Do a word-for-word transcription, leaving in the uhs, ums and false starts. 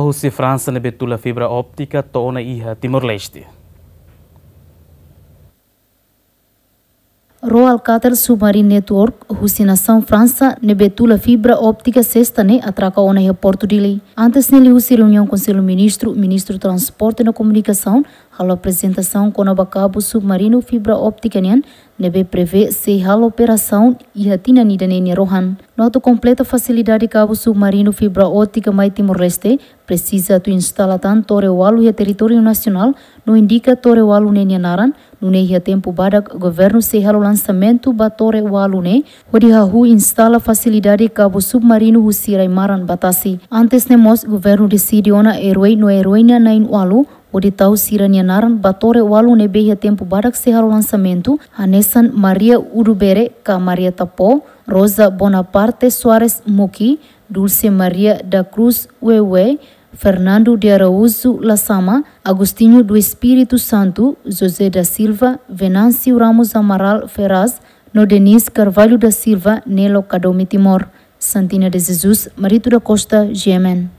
Husi Fransa ne'ebé tula fibra óptika to'o ona iha Timor-Leste. Royal Qatar Submarine Network husi nasaun Fransa ne'ebé tula fibra óptika sesta ne'e atraka ona iha Portu Dili. Antes ne'e liuhusi reuniaun Konsellu Ministru, Ministru Transporte no Komunikasaun halo aprezentasaun kona-ba kabu submarinu fibra óptika nian ne'ebé prevee sei halo operasaun iha tinan ida-ne'e nia rohan. No atu kompleta fasilidade kabu submarinu fibra óptika mai Timor-Leste, presiza atu instala tan tore ualu iha territóriu nasionál, no indika tore ualu ne'e nia naran, nune'e iha tempu badak governu sei halo lansamentu ba tore ualu ne'e, hodi hahú instala fasilidade kabu submarinu husi rai-maran ba tasi. Antes ne'e mós governu deside ona eroi no eroina na'in-ualu, hodi tau sira-nia naran ba tore ualu ne'ebé iha tempu badak sei halo lansamentu, hanesan Maria Udubere ka Maria Tapó, Rosa Bonaparte Soares Muki, Dulce Maria da Cruz Wewe, Fernando de Araújo Lasama, Agostinho do Espírito Santo, José da Silva, Venâncio Ramos Amaral Ferraz, no Denise Carvalho da Silva, Nelo Kadome Timor. Santina de Jesus, Marito da Costa, G M N.